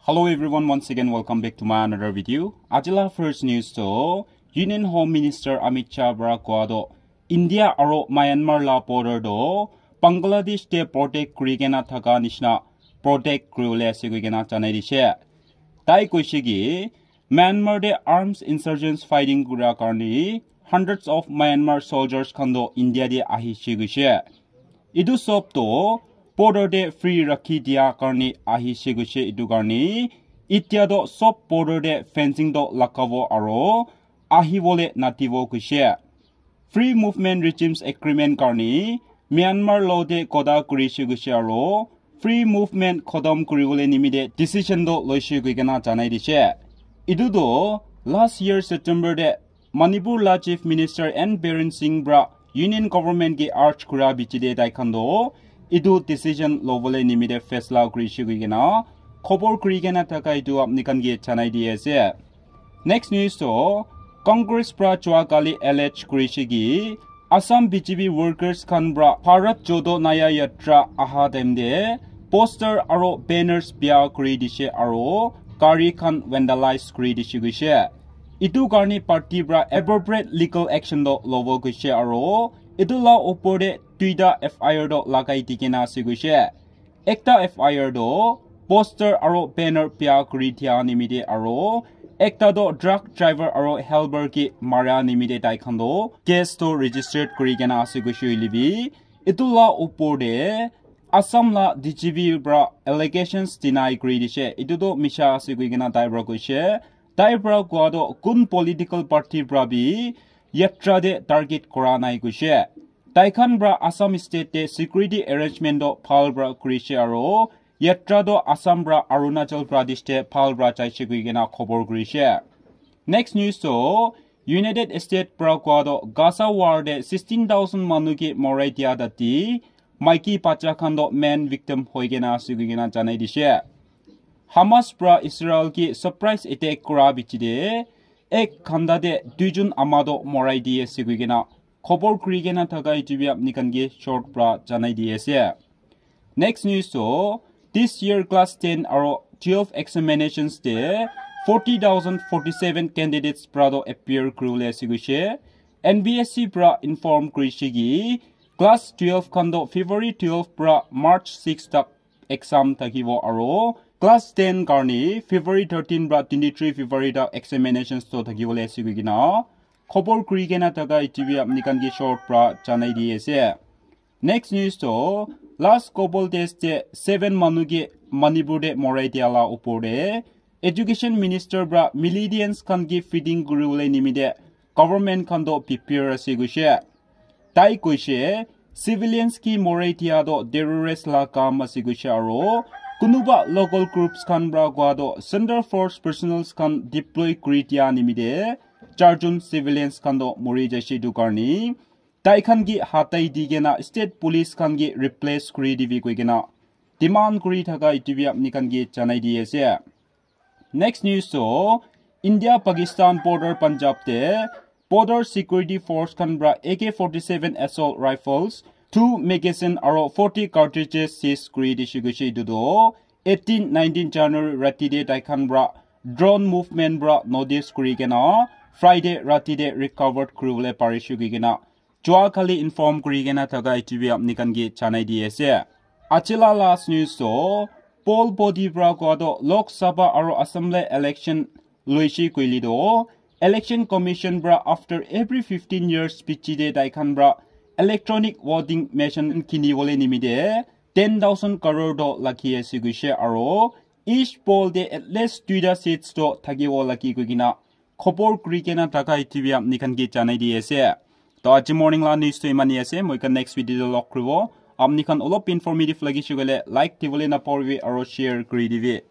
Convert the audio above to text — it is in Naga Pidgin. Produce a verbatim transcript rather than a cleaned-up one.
Hello everyone, once again welcome back to my another video. Ajila first news to Union Home Minister Amit Shah para koa to India aro Myanmar la border to Bangladesh te protect kuri kena thaka nishina protect kuri bole ase koi kena janai dishe. Tai koishe ki Myanmar te arms insurgents fighting kura karni hundreds of Myanmar soldiers khan to India te ahishe koishe. Etu sob to border te free rakhi dia karne ahishe koishe. Etu karne itya to sob border te fencing to lagabo aro ahibole natibo koishe. Free Movement Regimes Agreement karne Myanmar lo te koda kurishe koishe aro free movement khotom kuribole nimite decision to loishe koi kena janai dishe. Etu to last year September te Manipur la Chief Minister N Biren Singh pra Union Government ke urge kura bichi te tai khan to etu decision lobole nimite faisla kurishe koi kena khobor kuri kena thaka etu apni khan ke janai di ase. Next news to Congress pra chua kali allege kurishe ki Assam B J P workers khan pra Bharat Jodo Nyaya Yatra aha time te poster aro banners bia kuri dishe aro gari khan vandalize kuri dishe koishe. Etu karne party pra appropriate legal action to lobo koishe aro etu la upor te duita F I R to lagai di kena ase koishe. Ekta F I R to poster aro banner bia kuri dia nimite aro ekta to truck driver aro helper ke mara nimite tai khan to case to registered kuri kena ase koishe hoile bi etu la upor te Assam la D G P pra allegations deny kuri dishe. Etu to misha ase koi kena tai pra koishe. Tai pra koa to kun political party pra bi yatra te target kora nai koishe. Tai khan pra Assam state te security arrangement to bhal pra kurishe aro yatra to Assam pra Arunachal Pradesh te bhal pra jaishe koi kena khobor kurishe. Next news to United States pra koa to Gaza war te sixteen thousand manu ke morai dia dati maiki bacha khan to main victim hoi kena ase koi kena janai dishe. Hamas pra Israel ke surprise attack kura bichi te ek ghanta te duijon ama to morai di ase koi kena khobor kuri kena thaka etu bi apni khan ke short pra janai di ase. Next news to this year class ten aro twelve examinations te forty thousand forty-seven candidates pra to appear kuri bole ase koishe. N B S C pra inform kurishe ki class twelve khan to February twelve pra March six tak exam thakibo aro class ten karne February thirteen pra twenty-three February tak examinations to thakibole ase koi kena khobor kuri kena thaka etu bi apni khan ke short pra janai di ase. Next news to last couple days te seven manu ke Manipur te morai dia la upor te education minister pra militants khan ke feeding kuri bole nimite government khan to prepare ase koishe. Tai koishe civilians ke morai dia to terrorist la kam ase koishe aro kunuba local groups khan pra koa to center force personnels khan deploy kuri dia nimite charjon civilians khan to mori jaishe etu karne tai khan ke hatai di kena state police khan ke replace kuri dibi koi kena demand kuri thaka etu bi apni khan ke janai di ase. Next news to India Pakistan border Punjab te border security force khan pra A K forty-seven assault rifles, two magazine aro forty cartridges seize kuri dishe koishe. Etu to eighteen nineteen January rati te tai khan pra drone movement pra notice kuri kena Friday rati te recovered kuri bole parishe koi kena Chua kali inform kuri kena thaka etu bi apni khan ke janai di ase. Aji la last news to poll body pra koa to Lok Sabha aro Assembly election loishi koile to election commission pra after every fifteen years piche te tai khan pra electronic voting machine kini bole nimite ten thousand crore to lagi ase koishe aro each poll te at least duita seats to thakibo lagi koi kena khobor kuri kena thaka etu bi apni khan ke janai di ase. To aji morning la news to imani ase, moi khan next video te log kuribo. Apni khan olop informative lagi shikole like dibole na poribi aro share kuri dibi.